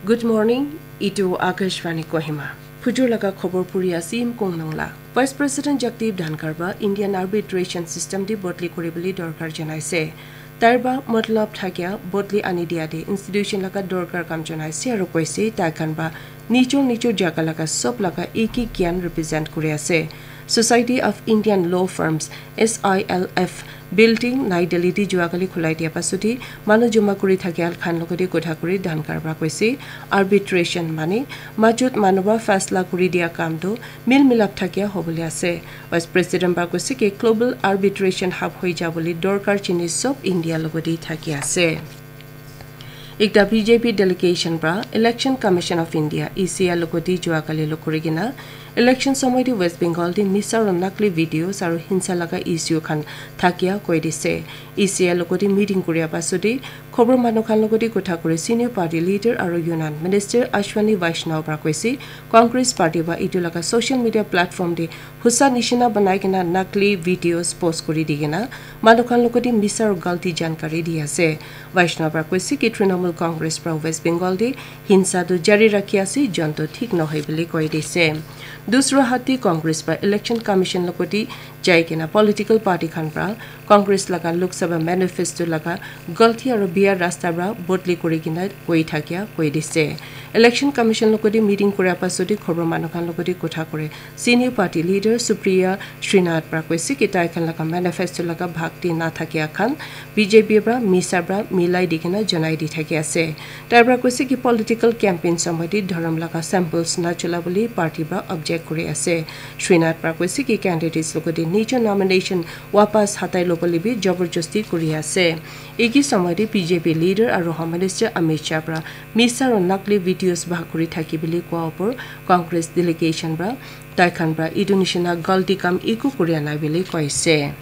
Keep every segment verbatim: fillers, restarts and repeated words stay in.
Good morning, itu Akashvani Kohima. Phujur laga khobor puri ase Im Kong Nongla. Vice President Jagdeep Dhankhar ba Indian arbitration system di bodli kuri bole dorkar janaise. Tar ba matlab thakia bodli ani dia de institution laga dorkar kam janaise aru koise tai khan ba nijor nijor jaga laga sob laga ek ek gyan represent kuri ase. Society of Indian Law Firms, S I L F, building Nai Delhi di jua kali khulai dia pasudi manu joma kuri thakia khan logode kotha kuri Dhankhar ba koise arbitration mane majut manu ba fasla kuri dia kam tu mil milap thakia hobole ase. Vice President ba koise ki global arbitration hub hoi ja bole dorkar jini sob India logode thaki ase. Ekta B J P delegation pra Election Commission of India, E C I, logoti jua kali lo kuri kena election somoy te West Bengal te misa aro nakli videos aro hinsa laga issue khan thakia koi dise. E C I logoti meeting kuria pasode khobor manu khan logoti kotha kuri senior party leader aro Union Minister Ashwini Vaishnaw pra koise Congress party ba etu laga social media platform te husa nishina banai kena nakli videos post kuri di kena manu khan logoti misa aro galti jankari di ase. Vaishnaw pra koise ki Trinamool Congress pra West Bengal te hinsa tu jari rakhi ase, jon tu thik nohoi bole koi dise. Dusra hat te Congress pra Election Commission logoti jai kena political party khan pra Congress laga Lok Sabha manifesto laga galti aro biya rasta pra bodli kuri kena koi thakia koi dise. Election Commission logoti meeting kuria pasode khobor manu khan logoti kotha kure senior party leader Supriya Srinath pra koise ki tai khan laga manifesto laga bhag te na thakia khan B J P pra misa pra milai di kena janai di thaki ase. Tai pra koise ki political campaign somoy te dhorom laga symbols na chola bole party pra object kuri ase. Srinath pra koise ki candidates logoti nijor nomination wapas hatai lo bole bi jabarjasti kuri ase. Eki somoy te B J P leader aro Home Minister Amit Shah pra misa aro nakli videos bhag kuri thaki bole koa opor Congress delegation pra tai khan pra etu nishina galti kam eku kuria nai bole koise.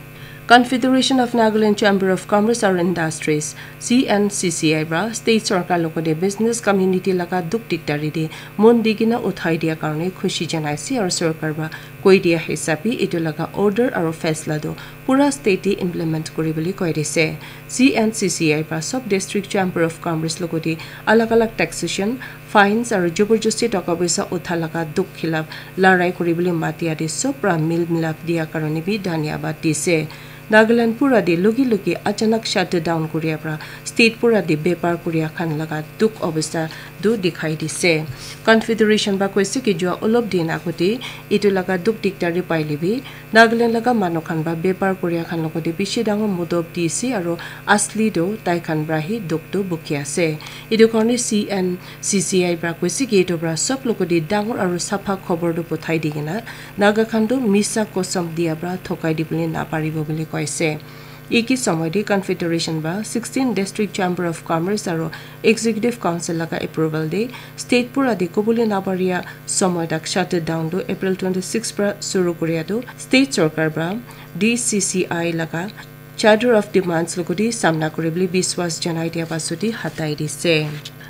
Confederation of Nagaland Chamber of Commerce aro Industries, C N C C I pra state sorkar logoti business community laga dukh dikdari te mon di kena uthai dia karone khushi janaise aro sorkar pra koi dia hisab te etu laga order aro faisla tu pura state te implement kuri bole koi dise. C N C C I pra sob district chamber of commerce logoti alag alag taxation, fines aro jabarjasti toka poisa utha laga dukh khilaf larai kuri bole matia te sob pra mil milap dia karone bi dhanyabad dise. Nagaland pura te logi logi achanak shutdown kuria pra state pura te bepar kuria khan laga dukh obostha tu dikhai dise. Confederation pra koise ki jua olop din agote etu laga dukh dikdari paile bi Nagaland laga manu khan pra bepar kuria khan logoti bishi dangor modop dise aro asli tu tai khan pra hi dukh tu buki ase. Etu karone C N C C I pra koise ki etu pra sob logoti dangor aro sapha khobor tu pothai di kena Naga khan tu misa kosam dia pra thokai di bole naparibo bole koise. Eki somoy te Confederation pra sixteen District Chamber of Commerce aro Executive Council laga approval te state pura te kobole naparia somoy tak shutdown tu April twenty six pra suru kuria tu state sorkar pra D C C I laga charter of demands logoti samna kuri bole biswas janai dia pasode hatai dise.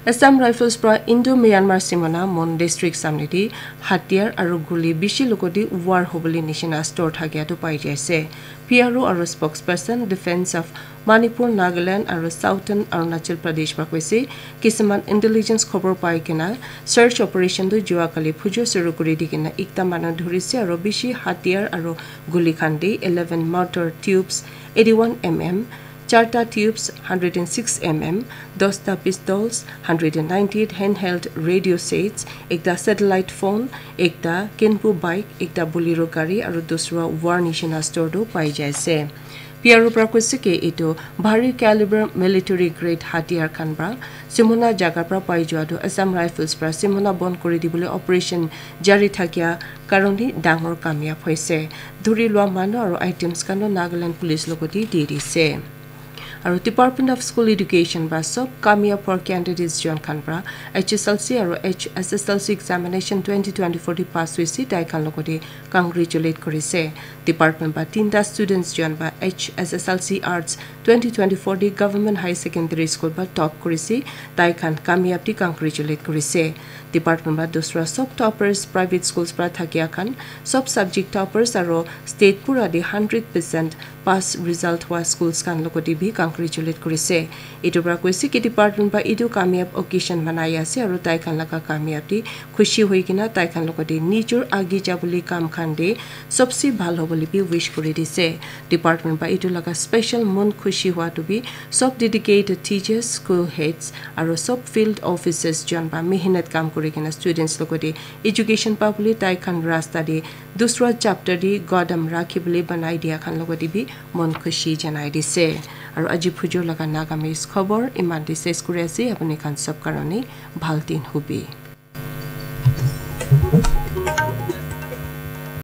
Assam Rifles pra Indo Myanmar Simona Mon District samne te hatiyar aro guli bishi logoti war hobole nishina store thakia tu pai jaise. P R O aro spokesperson Defense of Manipur, Nagaland aro Southern Arunachal Pradesh pra koise kisuman intelligence khobor pai kena search operation tu jua kali phujo suru kuri di kena ekta manu dhurise aro bishi hatiyar aro guli khan de eleven mortar tubes eighty one M M, charta tubes hundred and six M M, dosta pistols, hundred and ninety eight handheld radio sets, ekta satellite phone, ekta Kenpu bike, ekta Bolero gari aru dusra war nishina store tu pai jai ase. P R O pra koise ki etu bhari caliber military grade hatiyar khan pra Simona jaga pra pai jua tu Assam Rifles pra Simona bon kuri dibole operation jari thakia karone dangor kamyab hoise. Dhuri lua manu aru items khan tu Nagaland Police logot te di dise. Aru Department of School Education pra sob kamyab hor candidates jon khan pra H S L C aru H S S L C examination twenty twenty-four te pass hoise, tai khan logot te congratulate kurise. Department pra tinta students jon pra H S S L C Arts twenty twenty-four te Government High Secondary School pra top kurise, tai khan kamyab te congratulate kurise. Department pra dusra sob toppers, private schools pra thakia khan, sob subject toppers aru state pura te hundred percent pass result hua schools khan logot te bi congratulate kurise. Etu para koise ki department para etu kamyab occasion manai ase aru tai khan laga kamyab te khushi hoi kena tai khan logote nijor agi jabole kam khan te sobse bhal hobole bi wish kuri dise. Department para etu laga special mon khushi hua tu bi sob dedicated teachers, school heads aru sob field officers jon para mehnat kam kuri kena students logote education pabole tai khan rasta te dusra chapter te qadam rakhi bole banai dia khan logote bi mon khushi janai dise. Aru aji phujor laga Nagamese khobor iman te ses kuri ase, apuni khan sob karone bhal din hobi.